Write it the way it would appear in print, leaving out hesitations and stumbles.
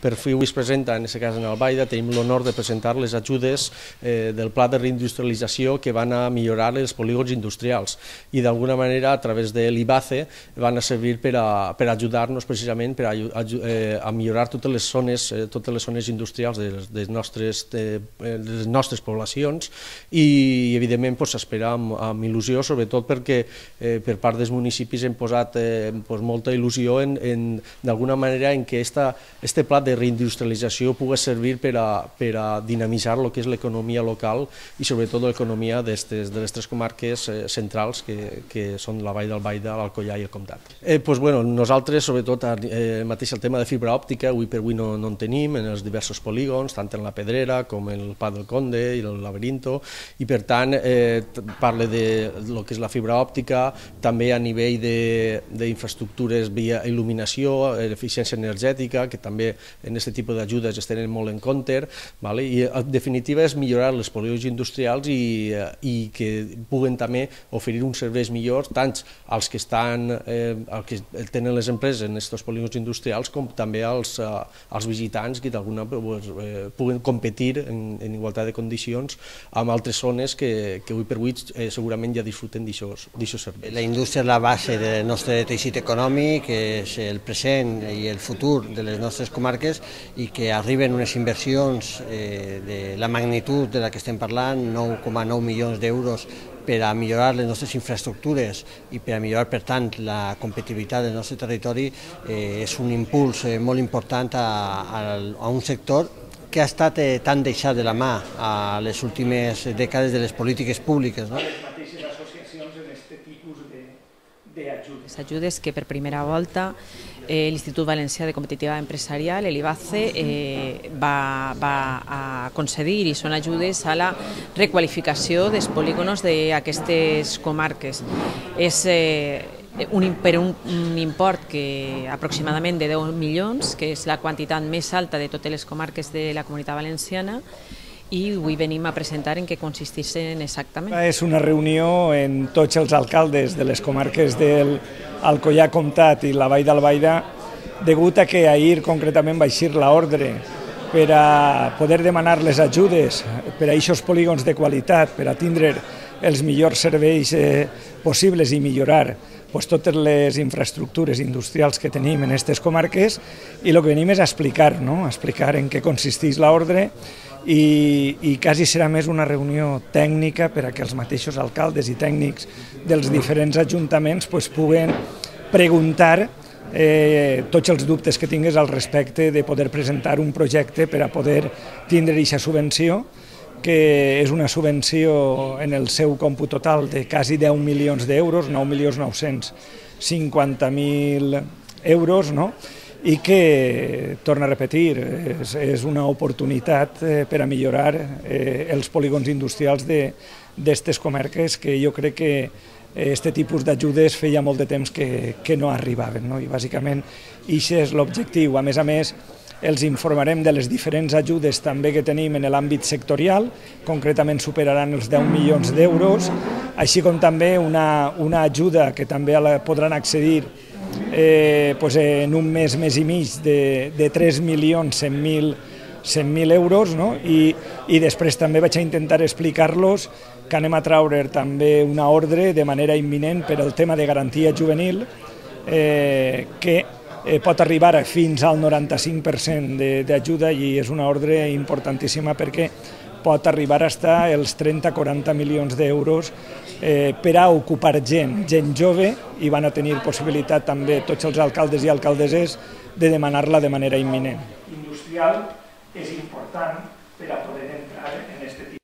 Per fi avui es presenta, en aquest cas en Albaida, tenim l'honor de presentar les ajudes del pla de reindustrialització que van a millorar els polígons industrials i d'alguna manera a través de l'IBACE van a servir per ajudar-nos precisament a millorar totes les zones industrials de les nostres poblacions i evidentment s'espera amb il·lusió, sobretot perquè per part dels municipis hem posat molta il·lusió d'alguna manera en què este pla de reindustrialització pugui servir per a dinamitzar el que és l'economia local i sobretot l'economia de les tres comarques centrals que són la Vall d'Albaida, l'Alcoià i el Comtat. Nosaltres, sobretot, mateix el tema de fibra òptica, avui per avui no en tenim en els diversos polígons, tant en la Pedrera com en el Pla del Conde i el Laberinto, i per tant parla de lo que és la fibra òptica, també a nivell d'infraestructures via il·luminació, eficiència energètica, que també en aquest tipus d'ajudes es tenen molt en compte, i en definitiva és millorar els polígons industrials i que puguen també oferir uns serveis millors tant als que tenen les empreses en aquests polígons industrials com també als visitants que d'alguna puguen competir en igualtat de condicions amb altres zones que avui per avui segurament ja disfruten d'aquests serveis. La indústria és la base del nostre teixit econòmic, és el present i el futur de les nostres comarques i que arriben unes inversions de la magnitud de la que estem parlant, 9,9 milions d'euros per a millorar les nostres infraestructures i per a millorar, per tant, la competitivitat del nostre territori, és un impuls molt important a un sector que ha estat tan deixat de la mà a les últimes dècades de les polítiques públiques. Les ajudes que per primera volta l'Institut Valencià de Competitivitat Empresarial, l'IBACE, va a concedir i són ajudes a la requalificació dels polígons d'aquestes comarques. És per un import aproximadament de 10 milions, que és la quantitat més alta de totes les comarques de la Comunitat Valenciana, i avui venim a presentar en què consisteixen exactament. És una reunió en tots els alcaldes de les comarques del Alcoià, Comtat i la Vall d'Albaida, degut a que ahir concretament va eixir l'ordre per a poder demanar les ajudes per a aquests polígons de qualitat, per a tindre els millors serveis possibles i millorar totes les infraestructures industrials que tenim en aquestes comarques, i el que venim és a explicar en què consisteix l'ordre i quasi serà més una reunió tècnica per a que els mateixos alcaldes i tècnics dels diferents ajuntaments puguen preguntar tots els dubtes que tingués al respecte de poder presentar un projecte per a poder tindre aquesta subvenció, que és una subvenció en el seu còmput total de quasi 10 milions d'euros, 9.950.000 euros, i que, torno a repetir, és una oportunitat per a millorar els polígons industrials d'aquestes comarques, que jo crec que aquest tipus d'ajudes feia molt de temps que no arribaven, i bàsicament aquest és l'objectiu. A més, els informarem de les diferents ajudes també que tenim en l'àmbit sectorial, concretament superaran els 10 milions d'euros, així com també una ajuda que també podran accedir en un mes i mig de 3.100.000 euros, i després també vaig a intentar explicar-los que anem a traure també una ordre de manera imminent per al tema de garantia juvenil, que pot arribar fins al 95% d'ajuda, i és una ordre importantíssima perquè pot arribar a estar els 30-40 milions d'euros per a ocupar gent jove, i van a tenir possibilitat també tots els alcaldes i alcaldesses de demanar-la de manera imminent. Industrial és important per a poder entrar en aquest tipus